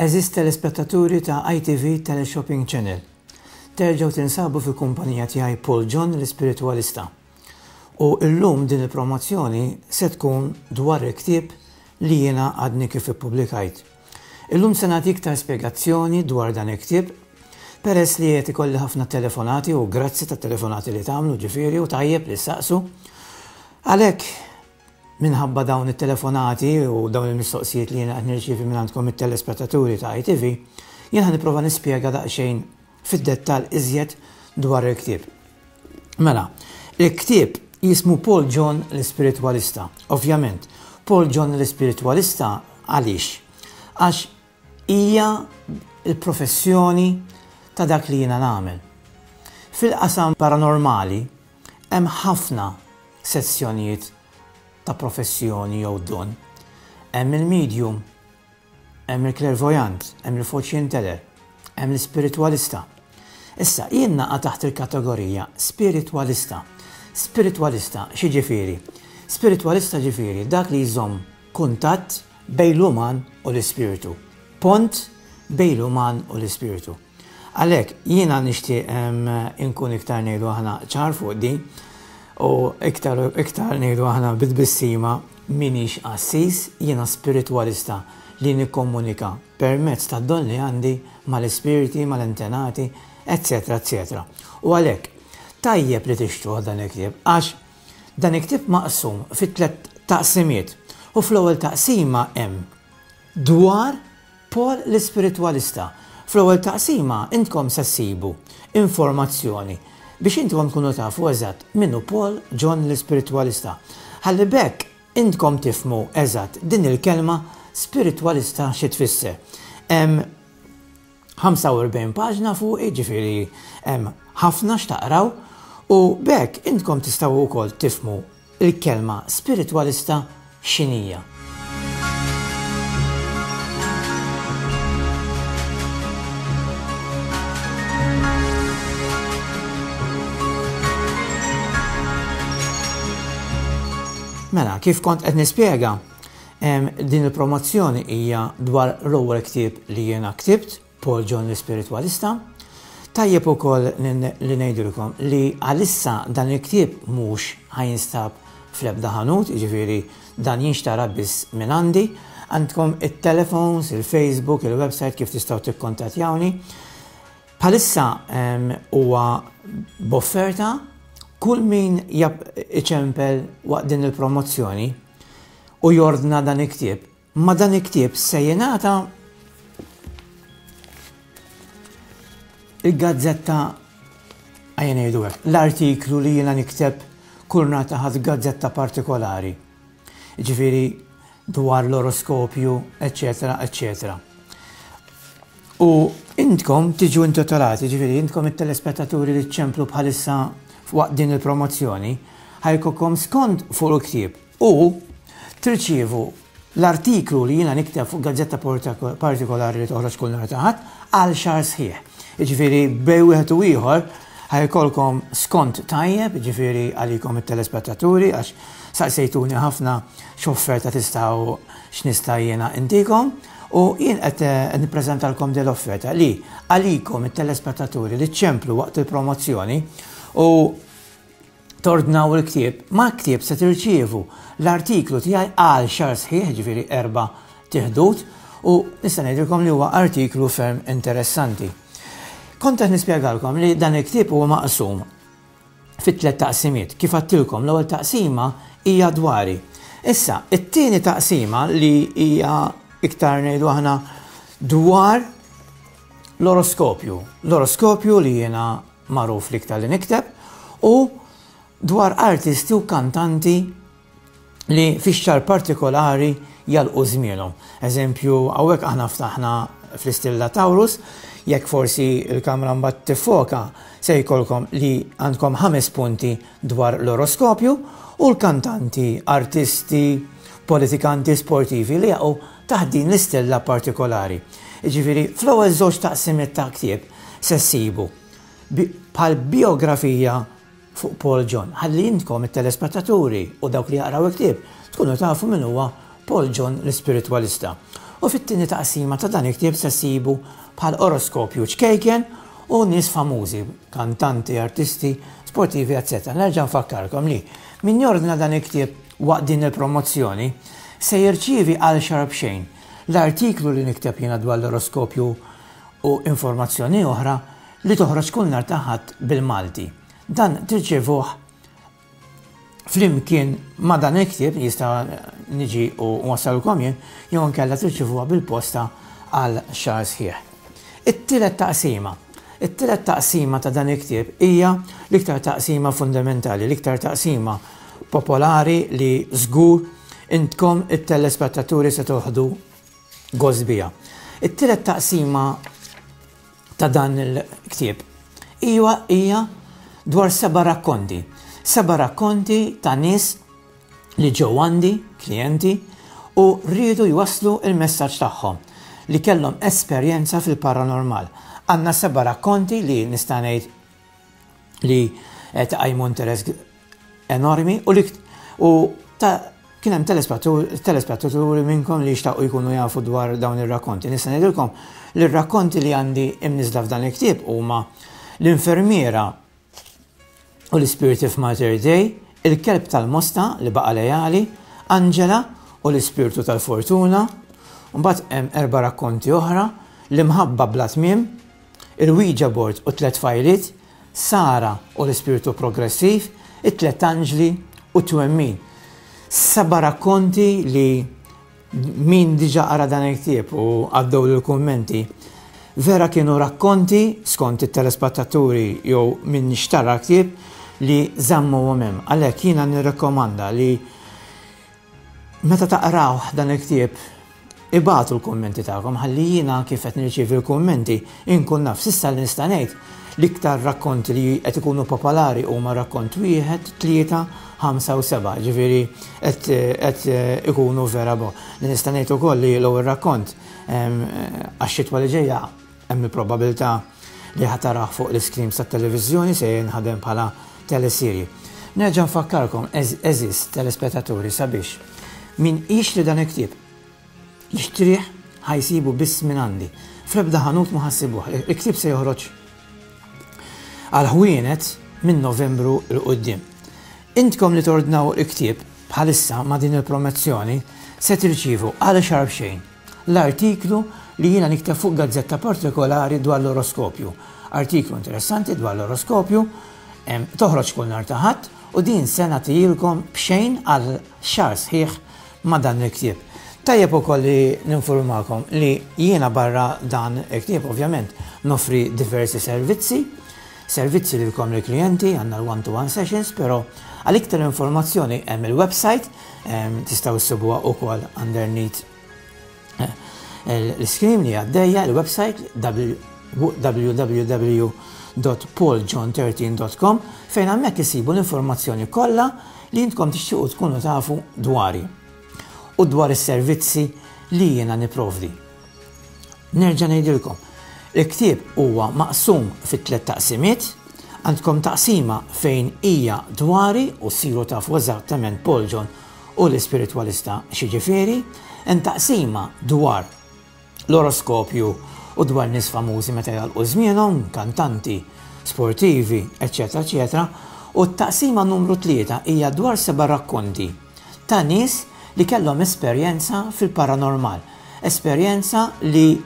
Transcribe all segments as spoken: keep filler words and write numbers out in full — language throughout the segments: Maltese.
Għeżież telespettaturi ta' I T V Teleshopping Channel. Terġgħu tinsabu fil-kumpanija tiegħi Paul John l-Ispiritwalista. U llum din il-promozzjoni se tkun dwar il-ktieb li jiena għadni kif ippubblikajt. Illum se nagħti iktar spjegazzjoni dwar dan il-ktieb, peress li qed ikolli ħafna telefonati u grazzi tat-telefonati li tagħmlu ġifieri u tajjeb li ssaqsu. Għalhekk minħabba dawn it-telefonati u dawn il-mistoqsijiet li jiena qed nirċievi minn għandkom it-telespettaturi ta' I T V, jien ħa nipprova nispjega daqsxejn fid-dettall iżjed dwar il-ktieb. Mela, il-ktieb jismu Paul John l-Ispiritwalista. Ovvjament, Paul John l-Ispiritwalista għaliex? Għax hija l-professjoni ta' dak li jiena nagħmel. Fil-qasam paranormali hemm ħafna sezzjonijiet ta' professjoni jew don. Hemm il-medium, hemm il-clairvoyant, hemm il-fortune teller, hemm l-ispiritwalista. Issa, jien naqa' taħt il-kategorija spiritwalista. Spiritwalista x'jiġifieri? Spiritwalista ġifieri dak li jżomm kuntatt bejn l-uman u l-ispiritu. Pont bejn l-uman u l-ispiritu. Għalhekk jiena nixtieq, em, inkun iktar ngħidu aħna ċar fuq din u iktar, iktar ngħidu aħna bit-tbissima minix qassis, jiena spiritwalista li nikkomunika permezz tad-don li għandi mal-ispiriti, mal-antenati, eccetera, eccetera. U għalhekk tajjeb li tixtruh dan il-ktieb għax dan il-ktieb maqsum fi tliet taqsimiet u fl-ewwel taqsima hemm dwar Paul l-Ispiritwalista. Fl-ewwel taqsima intkom se ssibu informazzjoni biex intkom tkunu tafu eżatt min hu Paul John l-Ispiritwalista. Ħalli b'hekk intkom tifhmu eżatt din il-kelma spiritwalista xi tfisser. Hemm ħamsa u erbgħin paġna fuq, jiġifieri hemm ħafna x'taqraw u b'hekk intkom tistgħu wkoll tifhmu il-kelma spiritwalista x'inhija. Mela, kif kont qed nispjega, em, din il-promozzjoni hija dwar l-ewwel ktieb li jiena ktibt, Paul John l-Ispiritwalista. Tajjeb ukoll li ngħidilkom li għalissa dan il-ktieb mhux ħajinstab fl-ebda ħanut, jiġifieri dan jinxtara biss minn għandi. Għandkom it-telefons, il-Facebook, il-website kif tistgħu tikkontattjawni. Bħalissa, em, huwa b'offerta. Kull min jab iċempel waqt din il-promozzjoni u jordna dan il-ktieb, ma dan il-ktieb se jingħata il-gazzetta, ejja ngħidu hekk, l-artiklu li jiena nikteb kull nhar ta' Ħadd gazzetta partikolari. Jiġifieri dwar l-oroskopju, eċċetera, eċċetera. U intkom tiġu intitolati, jiġifieri intkom it-telespettaturi li ċemplu bħalissa waqt din il-promozzjoni, ħajkokom skont fuq il-ktieb u tirċievu l-artiklu li jiena nikteb fuq gazzetta porta-, partikolari li toħroġ kull nhar ta' Ħadd għal xahar sħiħ. Jiġifieri bejn wieħed u ieħor ħajkolkom skont tajjeb, jiġifieri għalikom it-telespettaturi, għax saqsejtuni ħafna x'offerta tistgħu x'nista' jiena intikom, u jien qed, eh, nippreżentalkom din l-offerta li għalikom it-telespettaturi li ċemplu waqt il-promozzjoni u tordnaw il-ktieb, ma' ktieb se tirċievu l-artiklu tiegħi għal xahar sħiħ, ġifieri erba' tiħdut, u nista' ngħidilkom li huwa artiklu ferm interessanti. Kont qed nispjegalkom li dan il-ktieb huwa maqsum fi tliet taqsimiet. Kif għedtilkom, l-ewwel taqsima hija dwari. Issa, it-tieni taqsima li hija iktar ngħidu aħna dwar l-oroskopju. L-oroskopju li jiena magħruf l-iktar li nikteb, u dwar artisti u kantanti li fix-xahar partikolari jalqu żmienhom. Eżempju, hawnhekk aħna ftaħna fl-istilla Taurus, jekk forsi il-kamra mbagħad tiffoka se jkollkom li għandkom ħames punti dwar l-oroskopju u l-kantanti, artisti, politikanti, sportivi li jaqgħu taħt din l-istilla partikolari. Jiġifieri, fl-ewwel żewġ taqsimiet ta' ktieb se ssibu bi-, bħal biografija fuq Paul John. Ħalli intkom it-telespettaturi u dawk li jaqraw il-ktieb tkunu tafu min huwa Paul John l-Ispiritwalista. U fit-tieni taqsima ta' dan il-ktieb se ssibu bħal oroskopju ċkejken u nies famużi, kantanti, artisti, sportivi, eċċetera. Nerġa' nfakkarkom li min jordna dan il-ktieb waqt din il-promozzjoni se jirċievi għal xahar b'xejn l-artiklu li nikteb jiena dwar l-oroskopju u informazzjoni oħra li toħroġ kull nhar ta' Ħadd bil-Malti. Dan tirċevuh flimkien ma' dan il-ktieb, jista' niġi u nwassalkom jien, jew inkella tirċevuha bil-posta għal xahar sħiħ. It-tielet taqsima. It-tielet taqsima ta' dan il-ktieb hija l-iktar taqsima fundamentali, l-iktar taqsima popolari li żgur intkom it-telespettaturi se toħdu gost biha. It-tielet taqsima ta' dan il-ktieb hija hija dwar seba' rakkonti. Seba' rakkonti ta' nies li ġew għandi, klijenti, u rridu jwasslu il-messaġġ tagħhom li kellhom esperjenza fil-paranormal. Għandna seba' rakkonti li nista' ngħid li qed iqajmu interess enormi u li u ta' kien hemm telespettaturi minnkom li xtaqu jkunu jafu dwar dawn ir-rakkonti. Nista' ngħidilkom li r-rakkonti li għandi imniżla f'dan il-ktieb huma l-infermiera u l-ispirti f'Mater Dei, il-kelb tal-Mosta li baqa' lejali, Angela u l-ispirtu tal-Fortuna, mbagħad hemm erba' rakkonti oħra, l-imħabba bla tmiem, il-Ouija board u tliet fajliet, Sara u l-ispirtu progressiv, it-tliet anġli u t-twemmin. Seba' rakkonti li min diġa qara dan il-ktieb u għaddew l-kummenti, vera kienu rakkonti skont it-telespettaturi jew min xtara ktieb li żammuhom hemm. Għalhekk jiena nirrakkomanda li meta taqraw dan il-ktieb ibagħtu l-kummenti tagħkom ħalli jiena kif qed nirċievi l-kummenti inkun naf. S'issa li nista' ngħid l-iktar rakkonti li qed ikunu popolari huma rakkont wieħed, tlieta, ħamsa u seba', ġifieri qed ikunu vera bo. Li nista' ngħid ukoll li l-ewwel rakkont għax-xitwa li ġejja hemm il-probabilità li ħa tarah fuq l-iskrim tat-televiżjoni, se jinħadem bħala teleserje. Nerġa' nfakkarkom, eżis telespettaturi, sabiex min jixtri dan il-ktieb jixtrih ħa jsibu biss minn għandi. Fl-ebda ħanut ma ħa ssibuh. Il-ktieb se joħroġ għal ħwienet minn Novembru 'l quddiem. Intkom li tordnaw il-ktieb bħalissa ma' din il-promozzjoni se tirċievu għal xahar b'xejn l-artiklu li jiena nikteb fuq gazzetta partikolari dwar l-oroskopju. Artiklu interessanti dwar l-oroskopju, toħroġ kull nhar ta' Ħadd u din se nagħtihilkom b'xejn għal xahar sħiħ ma' dan il-ktieb. Tajjeb ukoll li ninformakom li jiena barra dan il-ktieb ovvjament noffri diversi servizzi, servizzi lilkom lill-klijenti, għandna l-one-to-one sessions, però għal iktar informazzjoni hemm il-website, tistgħu issibuha wkoll underneath l-screen li għaddejja, il-website w w w dot paul john thirteen dot com, fejn hemmhekk isibu l-informazzjoni kollha li intkom tixtiequ tkunu tafu dwari u dwar is-servizzi li jiena nipprovdi. Nerġa' ngħidilkom, il-ktieb huwa maqsum fi tliet taqsimiet. Għandkom taqsima fejn hija dwari u ssiru tafu eżattament Paul John u l-ispiritwalista x'jiġifieri, hemm taqsima dwar l-oroskopju u dwar nies famużi meta jagħlqu żmienhom, kantanti, sportivi, eċċetera, eċċetera. U t-taqsima numru tlieta hija dwar seba' rakkonti ta' nies li kellhom esperjenza fil-paranormal, esperjenza li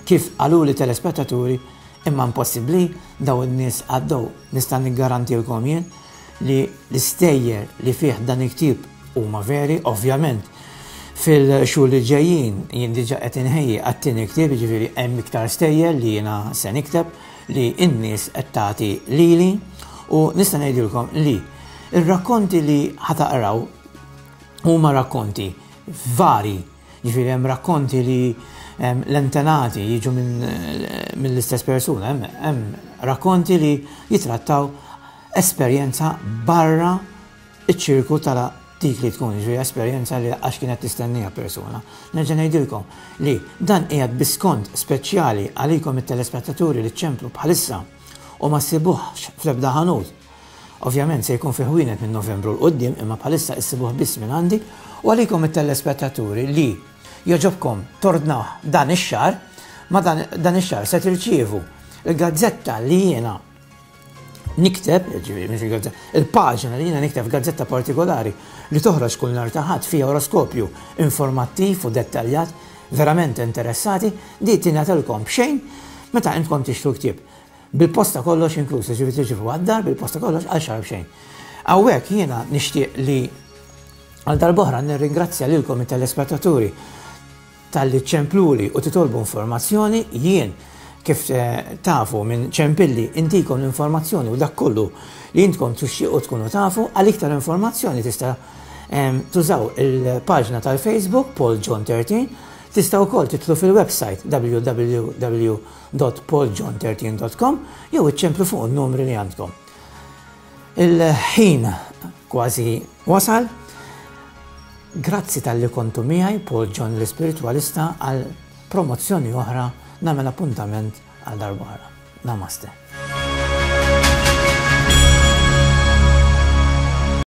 kif qaluli telespettaturi imma impossibbli daw in-nies għaddew. Nista' niggarantilkom jien li l-istejjer li fih dan il-ktieb huma veri, ovvjament fil-xhur li ġejjin jien diġà qed inħejji għat-tieni ktieb, jiġifieri hemm iktar stejjer li jiena se nikteb li n-nies qed tagħti lili, u nista' ngħidilkom li r-rakkonti li ħa taqraw huma rakkonti vari, jiġifieri hemm rakkonti li l-antenati jiġu mill-istess persuna, hemm rakkonti li jitrattaw esperjenza barra iċ-ċirku tal dik li tkun, jiġifieri esperjenza li għax kienet tistennija persuna. Nerġa' ngħidilkom li dan qiegħed bi skont speċjali għalikom it-telespettaturi li ċemplu bħalissa u ma ssibuhx fl-ebda ħanut. Ovvjament se jkun fi ħwienet minn Novembru 'l quddiem, imma bħalissa issibuh biss minn għandi, u għalikom it-telespettaturi li jogħġobkom tordnawh dan ix-xahar, ma dan, dan ix-xahar se tirċievu il-gazzetta li jiena nikteb, il-paġna li jiena nikteb gazzetta partikolari li toħroġ kull nhar ta' Ħadd fiha oroskopju informattiv u dettaljat verament interessati, di tingħatalkom b'xejn meta intkom tixtru ktieb. Bil-posta kollox inkluż, ġifieri tirċievu għad-dar, bil-posta kollox għal xahar b'xejn. Hawnhekk jiena nixtieq li għal darb'oħra nirringrazzja lilkom it-telespettaturi talli ċempluli u titolbu informazzjoni. Jien, kif eh, tafu minn ċempilli, intikom l-informazzjoni u dak kollu li intkom tixtiequ tkunu tafu. Għal iktar informazzjoni tista' tużaw il-paġna tal-Facebook Paul John tlettax, tista' wkoll titilgħu fil-website w w w punt pauljohn tlettax punt com jew iċċemplu fuq il-numri li għandkom. Il-ħin kważi wasal. Grazzi talli kontu miegħi, Paul John l-Spiritualista, għal promozzjoni oħra. Nagħmel appuntament għal darb'oħra. Namaste.